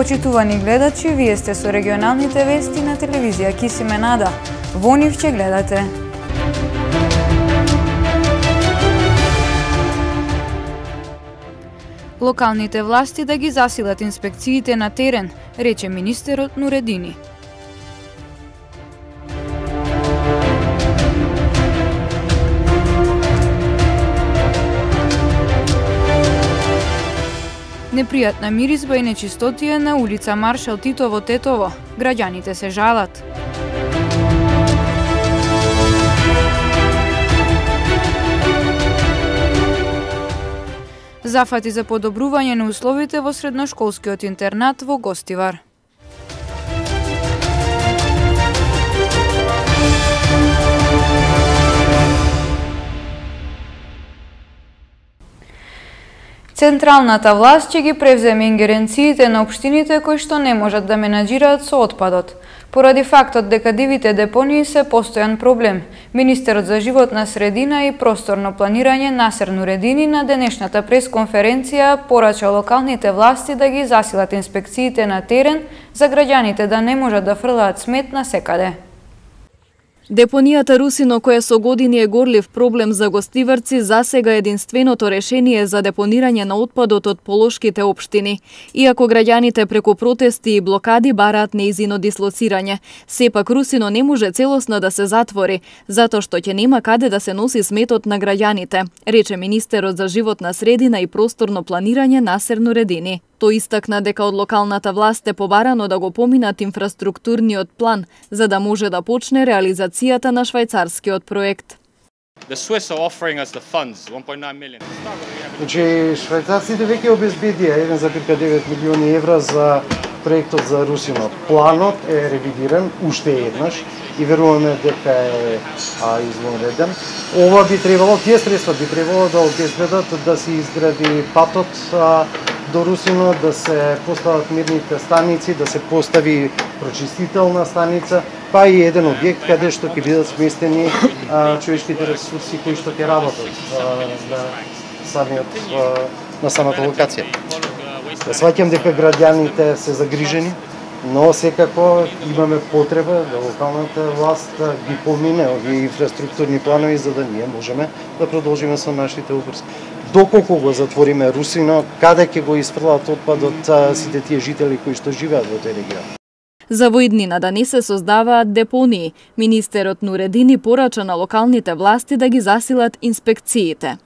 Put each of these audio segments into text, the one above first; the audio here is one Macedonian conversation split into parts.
Почитувани гледачи, вие сте со регионалните вести на телевизија Кисименада. Во нив ќе гледате. Локалните власти да ги засилат инспекциите на терен, рече министерот Нуредини. Непријатна миризба и нечистотија на улица Маршал Тито во Тетово. Граѓаните се жалат. Зафати за подобрување на условите во средношколскиот интернат во Гостивар. Централната власт ќе ги превземе ингеренциите на општините кои што не можат да менаџираат со отпадот. Поради фактот дека дивите депонии се постојан проблем, министерот за животна средина и просторно планирање Насер Нуредини на денешната пресконференција порача локалните власти да ги засилат инспекциите на терен за граѓаните да не можат да фрлаат смет насекаде. Депонијата Русино, која со години е горлив проблем за гостиварци, засега единственото решение за депонирање на отпадот од полошките општини. Иако граѓаните преку протести и блокади бараат нејзино дислоцирање, сепак Русино не може целосно да се затвори, затоа што ќе нема каде да се носи сметот на граѓаните, рече министерот за животна средина и просторно планирање Насер Нуредини. Тој истакна дека од локалната власт е побарано да го поминат инфраструктурниот план, за да може да почне реализацијата на швајцарскиот проект. Значи, швајцарците веќе обезбедија 1,9 милиони евра за проектот за Русино. Планот е ревидиран уште еднаш и веруваме дека е извонреден. Ова би требало, тие средства би требало да обезбедат да се изгради патот до Русино, да се постават мирните станици, да се постави прочистителна станица, па и еден објект каде што ќе бидат сместени човечките ресурси кои што ќе работат на самата локација. Сваќам дека граѓаните се загрижени, но секако имаме потреба да локалната власт ги помине овие инфраструктурни планови за да ние можеме да продолжиме со нашите обврски. Доколку го затвориме Русино, каде ќе го исфрлат отпадот сите тие жители кои што живеат во тој регион? За во иднина да не се создаваат депонии, министерот Нуредини порача на локалните власти да ги засилат инспекциите.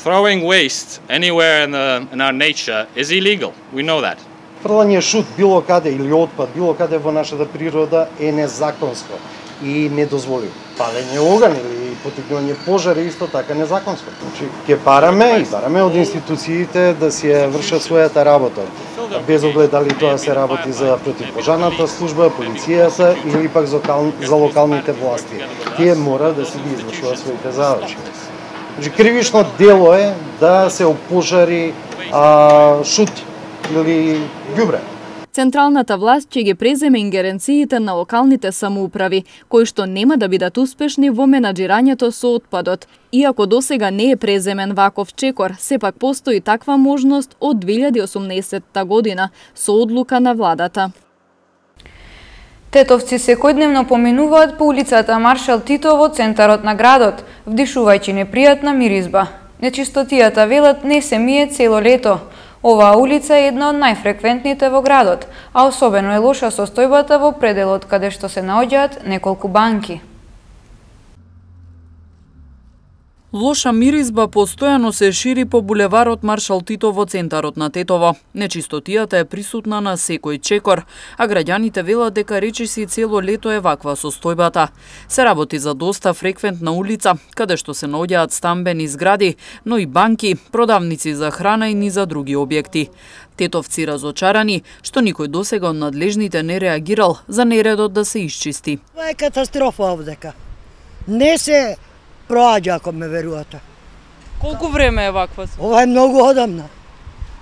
Throwing waste anywhere in our nature is illegal. We know that. Фрлање шут било каде или отпад било каде во нашата природа е незаконско и недозволиво. Палење оган или потикнување пожари исто така незаконско. Значи ќе бараме од институциите да си ја вршат својата работа. Без оглед дали тоа се работи за противпожарната служба, полицијата или пак за локалните власти. Тие мора да си ги извршуваат своите задачи. Значи кривично дело е да се опожари шут или ѓубре. Централната власт ќе ги преземе ингеренциите на локалните самоуправи, кои што нема да бидат успешни во менаџирањето со отпадот. Иако досега не е преземен ваков чекор, сепак постои таква можност од 2018 година со одлука на владата. Тетовци секојдневно поминуваат по улицата Маршал Тито во центарот на градот, вдишувајќи непријатна миризба. Нечистотијата, велат, не се мие цело лето. Оваа улица е една од најфреквентните во градот, а особено е лоша состојбата во пределот каде што се наоѓаат неколку банки. Лоша миризба постојано се шири по булеварот Маршал Тито во центарот на Тетово. Нечистотијата е присутна на секој чекор, а граѓаните велат дека речиси цело лето е ваква состојбата. Се работи за доста фреквентна улица, каде што се наоѓаат стамбени згради, но и банки, продавници за храна и низа други објекти. Тетовци разочарани што никој досега од надлежните не реагирал за нередот да се исчисти. Ова е катастрофа овдека. Не се проаѓа, ако ме верувате. Колку време е ваква? Ова е многу одамна.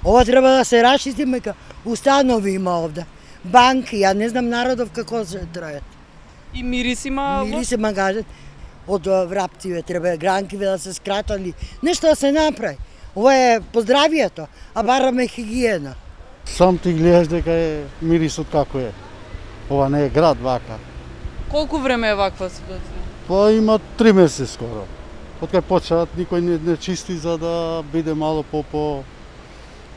Ова треба да се рашисти, мека установи има овде. Банки, ја не знам народов како се трајат. И мирис има? Мирис има, кажат, од враптиве, треба гранкиве да се скратали. Нешто да се направи. Ова е поздравието, а бараме хигиена. Сам ти гледаш дека е мирисот како е. Ова не е град вака. Колку време е ваква ситуација? Па има 3 месеци скоро. Од кај почнат никој не чисти за да биде мало по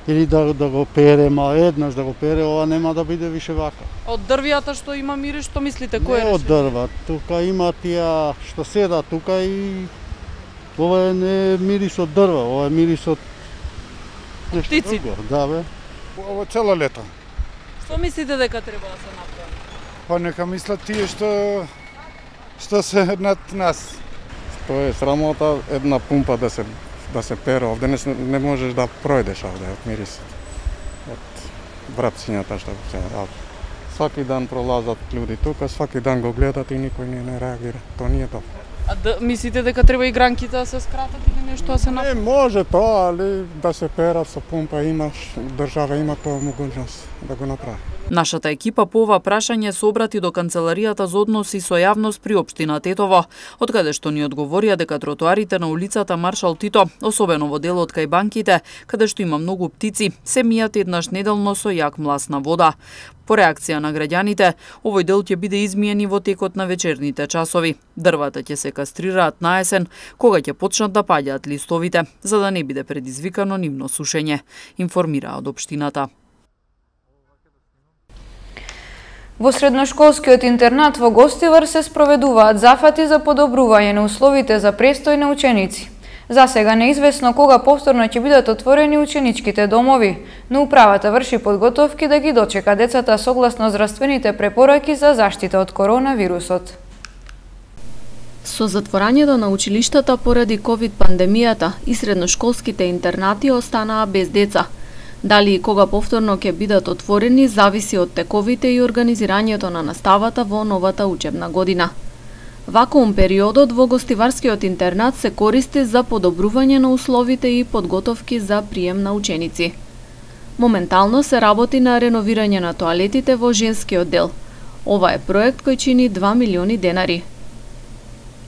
или да го пере, еднаш да го пере, ова нема да биде више вака. Од дрвијата што има мирис, што мислите, кој е решение? Не од дрва, тука има тие што седа тука и ова не е мирис од дрва, ова е мирис од птици. Да бе. Ова цело лето. Што мислите дека треба да се направи? Па нека мислат тие што се над нас. Тоа е срамота една пумпа да се пере овде, не можеш да пројдеш овде од мирисот. Од врапцињата што се ради. Сваки дан пролазат луѓе тука, сваки дан го гледат и никој не реагира. Тоа не е добро. А мислите дека треба и гранките да се скратат или нешто да се направи? Не може тоа, али да се перат со пумпа имаш, држава има тоа могуćност да го направи. Нашата екипа по ова прашање се обрати до Канцеларијата за односи со јавност при општина Тетово, од каде што ни одговорија дека тротоарите на улицата Маршал Тито, особено во делот кај банките, каде што има многу птици, се мијат еднаш неделно со јак мласна вода. По реакција на граѓаните, овој дел ќе биде измиен и во текот на вечерните часови. Дрвата ќе се кастрираат на есен, кога ќе почнат да паѓаат листовите, за да не биде предизвикано нивно сушење, информираа од општината. Во средношколскиот интернат во Гостивар се спроведуваат зафати за подобрување на условите за престој на ученици. За сега неизвестно кога повторно ќе бидат отворени ученичките домови, но управата врши подготовки да ги дочека децата согласно здравствените препораки за заштита од коронавирусот. Со затворањето на училиштата поради ковид пандемијата и средношколските интернати останаа без деца. Дали и кога повторно ќе бидат отворени зависи од тековите и организирањето на наставата во новата учебна година. Вакуум периодот во Гостиварскиот интернат се користи за подобрување на условите и подготовки за прием на ученици. Моментално се работи на реновирање на тоалетите во женскиот дел. Ова е проект кој чини 2 милиони денари.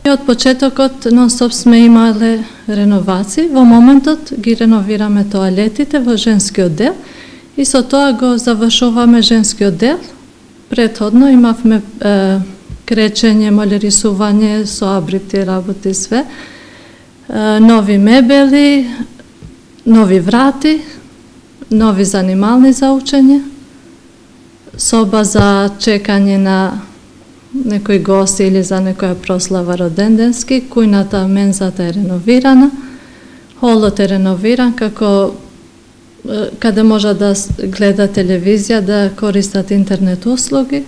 Од почетокот нон-стоп сме имале реновации. Во моментот ги реновираме тоалетите во женскиот дел и со тоа го завршуваме женскиот дел. Претходно имавме кречење, малерисување, со абрити работи све. Нови мебели, нови врати, нови занимални за учење, соба за чекање на некој гост или за некоја прослава роденденски, кујната, мензата е реновирана, холот е реновиран како каде може да гледа телевизија, да користат интернет услуги.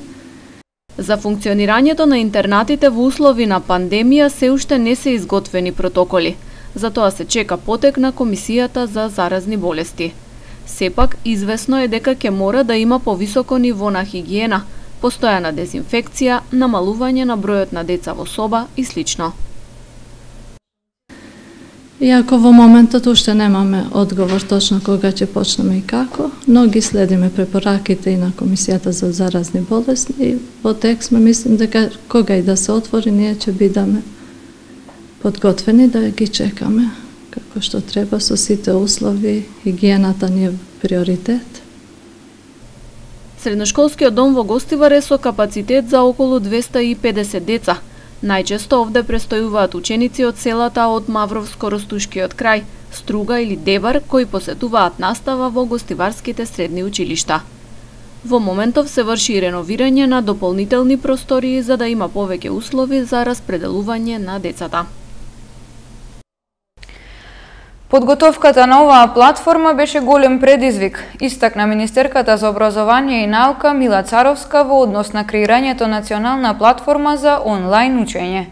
За функционирањето на интернатите во услови на пандемија се уште не се изготвени протоколи. Затоа се чека потек на Комисијата за заразни болести. Сепак, известно е дека ќе мора да има повисоко ниво на хигиена, постојана дезинфекција, намалување на бројот на деца во соба и слично. Иако во моментот уште немаме одговор точно кога ќе почнеме и како, но ги следиме препораките и на Комисијата за заразни болести и во текст сме мислим дека кога и да се отвори ние ќе бидеме подготвени да ги чекаме како што треба со сите услови, хигиената ни е приоритет. Средношколскиот дом во Гостивар е со капацитет за околу 250 деца. Најчесто овде престојуваат ученици од селата од Мавровско-Ростушкиот крај, Струга или Дебар, кои посетуваат настава во гостиварските средни училишта. Во моментов се врши реновирање на дополнителни простории за да има повеќе услови за распределување на децата. Подготовката на оваа платформа беше голем предизвик, истакна министерката за образование и наука Мила Царовска во однос на креирањето национална платформа за онлайн учење.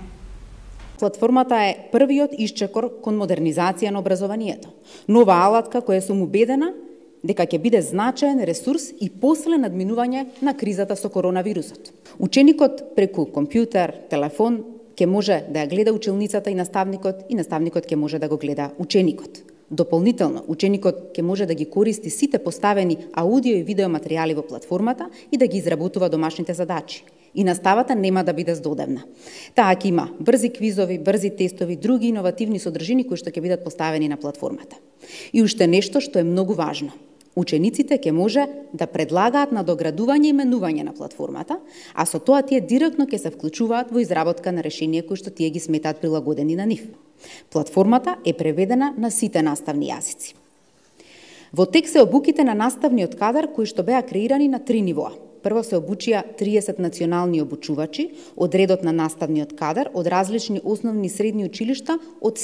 Платформата е првиот исчекор кон модернизација на образованието. Нова алатка која сум убедена дека ќе биде значаен ресурс и после надминување на кризата со коронавирусот. Ученикот преку компјутер, телефон ќе може да ја гледа училницата и наставникот ќе може да го гледа ученикот. Дополнително, ученикот ќе може да ги користи сите поставени аудио и видео материјали во платформата и да ги изработува домашните задачи. И наставата нема да биде здодевна. Таа ќе има брзи квизови, брзи тестови, други иновативни содржини кои што ќе бидат поставени на платформата. И уште нешто што е многу важно. Учениците ќе може да предлагаат надоградување и менување на платформата, а со тоа тие директно ќе се вклучуваат во изработка на решенија кои што тие ги сметаат прилагодени на нив. Платформата е преведена на сите наставни јазици. Во текст се обуките на наставниот кадар кои што беа креирани на 3 нивоа. Прво се обучија 30 национални обучувачи од редот на наставниот кадар од различни основни и средни училишта од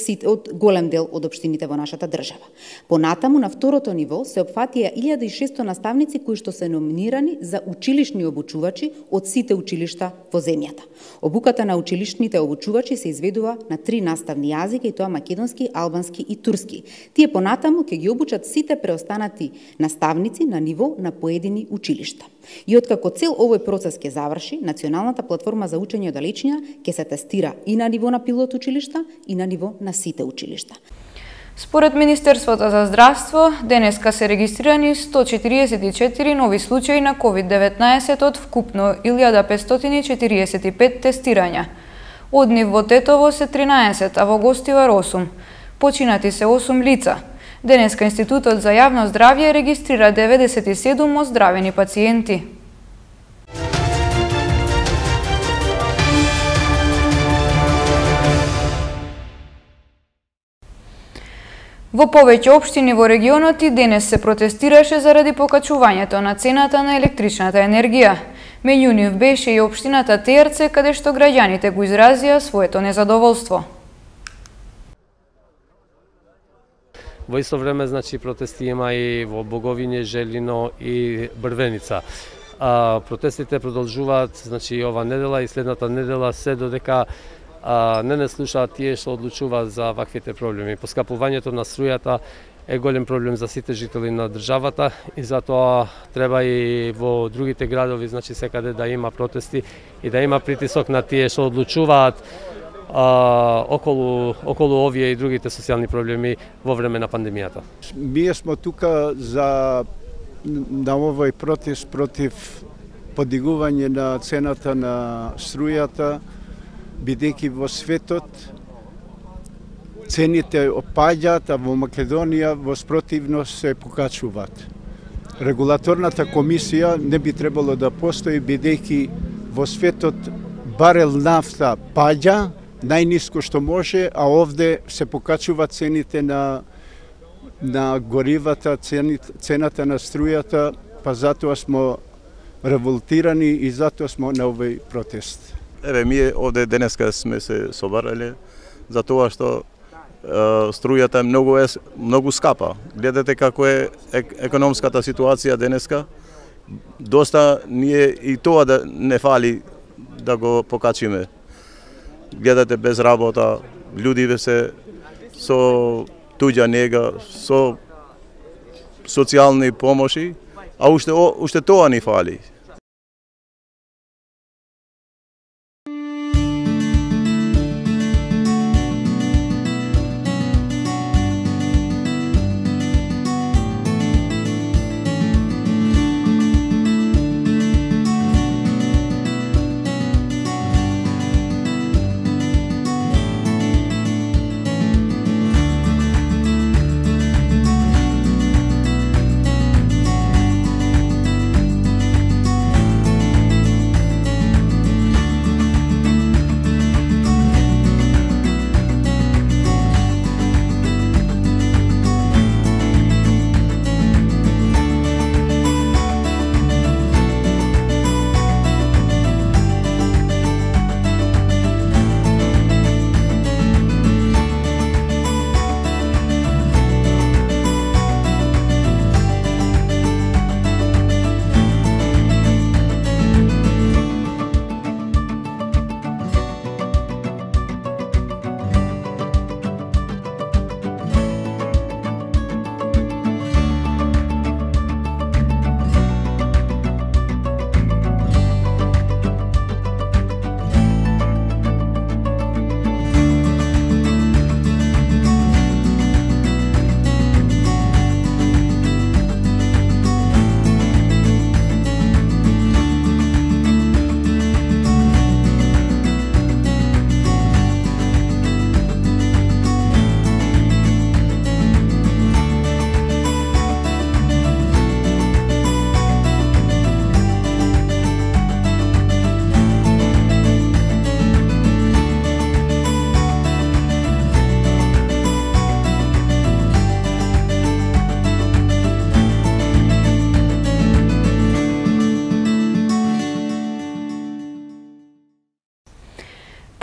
голем дел од општините во нашата држава. Понатаму на второто ниво се опфатија 1600 наставници кои што се номинирани за училишни обучувачи од сите училишта во земјата. Обуката на училишните обучувачи се изведува на 3 наставни јазика, и тоа македонски, албански и турски. Тие понатаму ќе ги обучат сите преостанати наставници на ниво на поедини училишта. И откако цел овој процес ќе заврши, националната платформа за учење од далечина ќе се тестира и на ниво на пилот училишта и на ниво на сите училишта. Според Министерството за здравство, денеска се регистрирани 144 нови случаи на COVID-19 од вкупно 1545 тестирања. Од нив во Тетово се 13, а во Гостивар 8. Починати се 8 лица. Денеска Институтот за јавно здравје регистрира 97 оздравени пациенти. Во повеќе општини во регионот и денес се протестираше заради покачувањето на цената на електричната енергија. Меѓу нив беше и општината Тејарце, каде што граѓаните го изразија своето незадоволство. Во исто време, значи, протести има и во Боговиње, Желино и Брвеница. Протестите продолжуваат, значи, ова недела и следната недела, се додека не слушаат тие што одлучуваат за ваквите проблеми. Поскапувањето на струјата е голем проблем за сите жители на државата и затоа треба и во другите градови, значи секаде да има протести и да има притисок на тие што одлучуваат околу овие и другите социјални проблеми во време на пандемијата. Ние сме тука на овој протест против подигување на цената на струјата, бидејќи во светот цените опаѓаат, а во Македонија во спротивност се покачуваат. Регулаторната комисија не би требало да постои, бидејќи во светот барел нафта паѓа најниско што може, а овде се покачуваат цените на горивата, цената на струјата, па затоа сме револтирани и затоа сме на овој протест. Еве, ние овде денеска сме се собрале за тоа што струјата е многу скапа. Гледате како е економската ситуација денеска. Доста ние и тоа да не фали да го покачиме. Гледате без работа, луѓе се со туѓа нега, со социјални помоши, а уште тоа ни фали.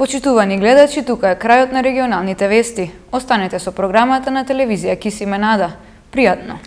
Почитувани гледачи, тука е крајот на регионалните вести. Останете со програмата на телевизија Кисименада. Пријатно!